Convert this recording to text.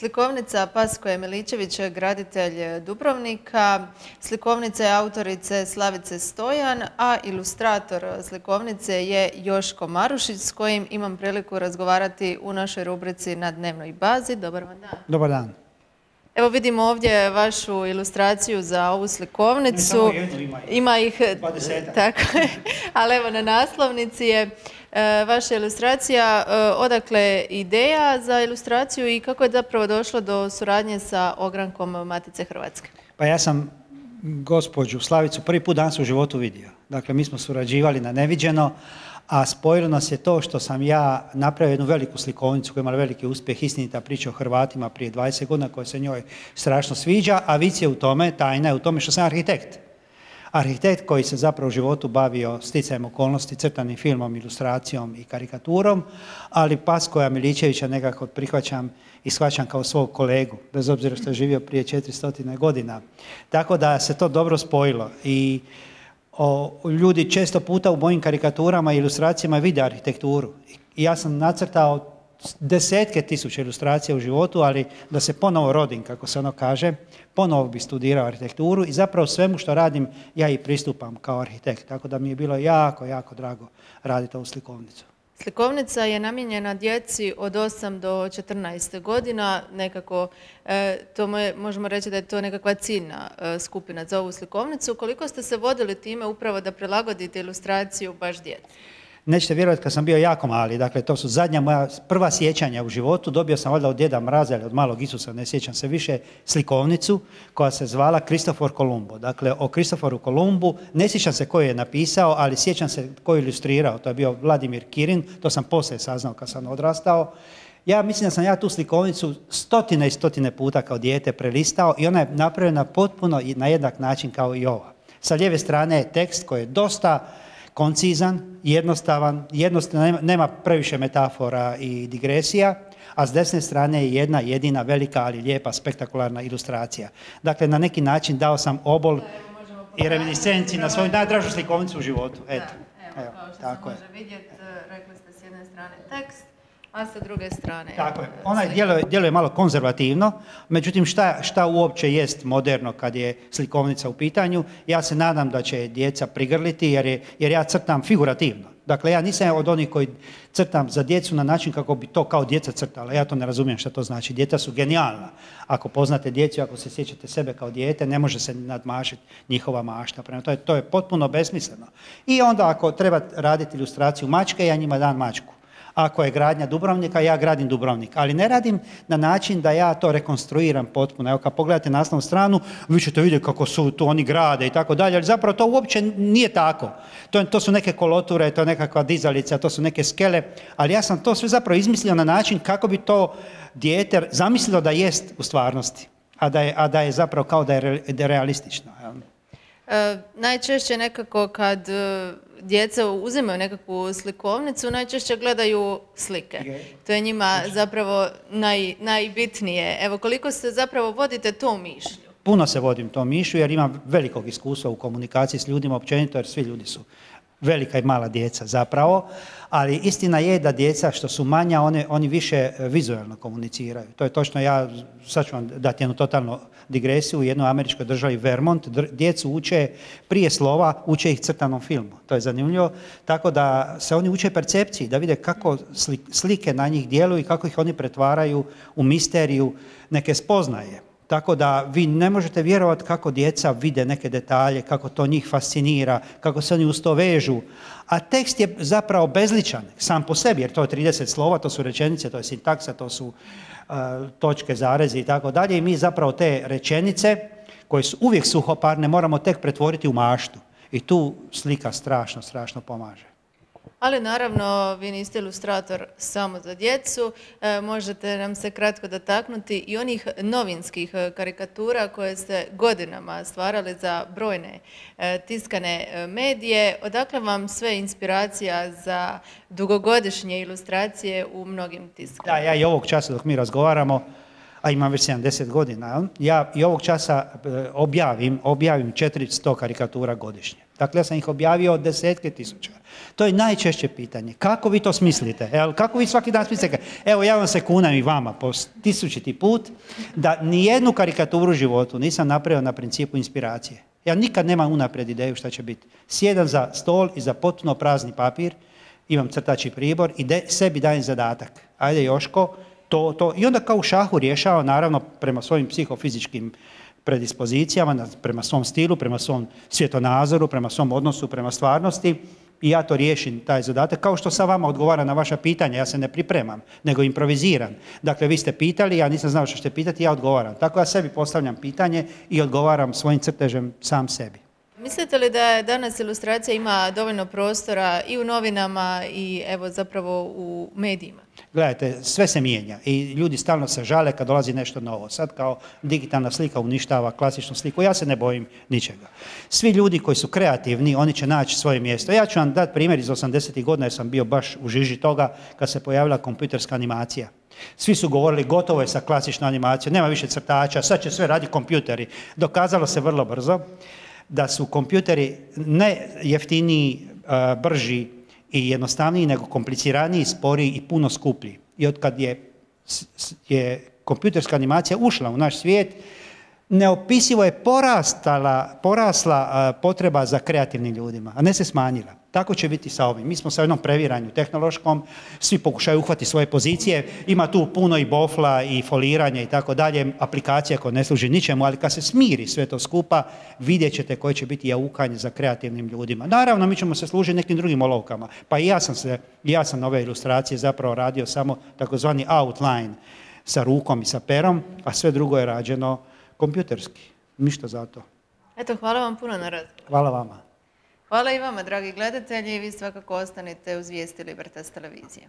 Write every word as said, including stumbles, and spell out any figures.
Slikovnica Paskoje Miličević, graditelj Dubrovnika. Slikovnica je autorice Slavice Stojan, a ilustrator slikovnice je Joško Marušić, s kojim imam priliku razgovarati u našoj rubrici Na dnevnoj bazi. Dobar vam dan. Dobar dan. Evo vidimo ovdje vašu ilustraciju za ovu slikovnicu. Ima ih dvadesetak. Tako je, ali evo na naslovnici je vaša ilustracija. Odakle ideja za ilustraciju i kako je zapravo došlo do suradnje sa ogrankom Matice Hrvatske? Pa ja sam gospođu Slavicu prvi put danas u životu vidio. Dakle, mi smo surađivali na neviđeno, a spojilo nas je to što sam ja napravio jednu veliku slikovnicu koja je imala veliki uspjeh, istinita priča o Hrvatima prije dvadeset godina koja se njoj strašno sviđa, a vic je u tome, tajna je u tome što sam arhitekt. Arhitekt koji se zapravo u životu bavio sticajem okolnosti, crtanim filmom, ilustracijom i karikaturom, ali Paskoja Miličevića nekako prihvaćam i shvaćam kao svog kolegu, bez obzira što je živio prije četiristo godina. Tako da se to dobro spojilo i o, ljudi često puta u mojim karikaturama i ilustracijama vide arhitekturu. I ja sam nacrtao desetke tisuća ilustracija u životu, ali da se ponovo rodim, kako se ono kaže, ponovo bi studirao arhitekturu i zapravo svemu što radim ja i pristupam kao arhitekt. Tako da mi je bilo jako, jako drago raditi ovu slikovnicu. Slikovnica je namijenjena djeci od osam do četrnaest godina, nekako e, to je, možemo reći da je to nekakva ciljna e, skupina za ovu slikovnicu. Koliko ste se vodili time upravo da prilagodite ilustraciju baš djeci? Nećete vjerovati, kad sam bio jako mali, dakle to su zadnja moja prva sjećanja u životu, dobio sam valjda od djeda Mraza ili od malog Isusa, ne sjećam se više, slikovnicu koja se zvala Kristofor Kolumbo. Dakle, o Kristoforu Kolumbu, ne sjećam se koji je napisao, ali sjećam se koji je ilustrirao, to je bio Vladimir Kirin, to sam poslije saznao kad sam odrastao. Ja mislim da sam ja tu slikovnicu stotine i stotine puta kao dijete prelistao i ona je napravljena potpuno na jednak način kao i ova. Sa lijeve strane je tekst koji je dosta koncizan, jednostavan, jednostavan, nema previše metafora i digresija, a s desne strane je jedna jedina velika, ali lijepa, spektakularna ilustracija. Dakle, na neki način dao sam obol i reminiscenciji na svoju najdražu slikovnicu u životu. Eto. Da, evo, kao što se može vidjeti, rekli ste s jedne strane tekst, a sa druge strane... Tako je. Ona djeluje, djeluje malo konzervativno, međutim šta, šta uopće jest moderno kad je slikovnica u pitanju, ja se nadam da će djeca prigrliti jer, je, jer ja crtam figurativno. Dakle, ja nisam od onih koji crtam za djecu na način kako bi to kao djeca crtala. Ja to ne razumijem što to znači. Djeca su genijalna. Ako poznate djecu, ako se sjećate sebe kao dijete, ne može se nadmašiti njihova mašta. Prema to je, to je potpuno besmisleno. I onda ako treba raditi ilustraciju mačke, ja njima dam mačku. Ako je gradnja Dubrovnika, ja gradim Dubrovnik. Ali ne radim na način da ja to rekonstruiram potpuno. Evo kad pogledate naslovnu stranu, vi ćete vidjeti kako su tu oni grade i tako dalje, ali zapravo to uopće nije tako. To, to su neke koloture, to je nekakva dizalica, to su neke skele, ali ja sam to sve zapravo izmislio na način kako bi to dijete zamislilo da jest u stvarnosti, a da je, a da je zapravo kao da je, re, da je realistično. E, najčešće nekako kad djeca uzimaju nekakvu slikovnicu, najčešće gledaju slike. To je njima zapravo naj, najbitnije. Evo, koliko se zapravo vodite to mišlju? Puno se vodim to mišlju jer imam velikog iskustva u komunikaciji s ljudima općenito, jer svi ljudi su velika i mala djeca zapravo, ali istina je da djeca što su manja, one, oni više vizualno komuniciraju. To je točno, ja sad ću vam dati jednu totalnu digresiju. U jednoj američkoj državi Vermont djecu uče prije slova, uče ih crtanom filmu. To je zanimljivo. Tako da se oni uče percepciji, da vide kako slike na njih djeluju i kako ih oni pretvaraju u misteriju neke spoznaje. Tako da vi ne možete vjerovati kako djeca vide neke detalje, kako to njih fascinira, kako se oni uz to vežu. A tekst je zapravo bezličan sam po sebi, jer to je trideset slova, to su rečenice, to je sintaksa, to su uh, točke, zarezi i tako dalje. I mi zapravo te rečenice, koje su uvijek suhoparne, moramo tek pretvoriti u maštu. I tu slika strašno, strašno pomaže. Ali naravno, vi niste ilustrator samo za djecu, e, možete nam se kratko dotaknuti i onih novinskih karikatura koje ste godinama stvarali za brojne e, tiskane medije. Odakle vam sve inspiracija za dugogodišnje ilustracije u mnogim tiskama? Da, ja i ovog časa dok mi razgovaramo, a imam već sedamdeset godina, jel? Ja i ovog časa objavim, objavim četiristo karikatura godišnje. Dakle, ja sam ih objavio od desetke tisuća. To je najčešće pitanje. Kako vi to smislite? Jel? Kako vi svaki dan smislite? Evo, ja vam se kunem i vama po tisućiti put da nijednu karikaturu u životu nisam napravio na principu inspiracije. Ja nikad nemam unaprijed ideju šta će biti. Sjedam za stol i za potpuno prazni papir, imam crtači pribor i de, sebi dajem zadatak. Ajde Joško, to, to. I onda kao u šahu rješava, naravno, prema svojim psihofizičkim predispozicijama, prema svom stilu, prema svom svjetonazoru, prema svom odnosu, prema stvarnosti i ja to riješim, taj zadatak, kao što sam vama odgovara na vaša pitanja, ja se ne pripremam, nego improviziram. Dakle, vi ste pitali, ja nisam znao što ćete pitati, ja odgovaram. Tako ja sebi postavljam pitanje i odgovaram svojim crtežem sam sebi. Mislite li da danas ilustracija ima dovoljno prostora i u novinama i evo zapravo u medijima? Gledajte, sve se mijenja i ljudi stalno se žale kad dolazi nešto novo. Sad kao digitalna slika uništava klasičnu sliku, ja se ne bojim ničega. Svi ljudi koji su kreativni, oni će naći svoje mjesto. Ja ću vam dati primjer iz osamdesetih godina jer sam bio baš u žiži toga kad se pojavila kompjuterska animacija. Svi su govorili gotovo je sa klasičnom animacijom, nema više crtača, sad će sve raditi kompjuteri. Dokazalo se vrlo brzo da su kompjuteri ne jeftiniji, brži i jednostavniji, nego kompliciraniji, sporiji i puno skuplji. I od kad je, je kompjuterska animacija ušla u naš svijet, neopisivo je porastala, porasla potreba za kreativnim ljudima, a ne se smanjila. Tako će biti sa ovim. Mi smo sa jednom previranju tehnološkom, svi pokušaju uhvati svoje pozicije, ima tu puno i bofla i foliranja i tako dalje, aplikacija koja ne služi ničemu, ali kad se smiri sve to skupa, vidjet ćete koje će biti jaukanje za kreativnim ljudima. Naravno, mi ćemo se služiti nekim drugim olovkama, pa i ja sam, se, ja sam ove ilustracije zapravo radio samo takozvani outline sa rukom i sa perom, a sve drugo je rađeno kompjuterski. Ništa za to. Eto, hvala vam puno na razgovoru. Hvala vama. Hvala i vama, dragi gledatelji, i vi svakako ostanite uz vijesti Libertas televizije.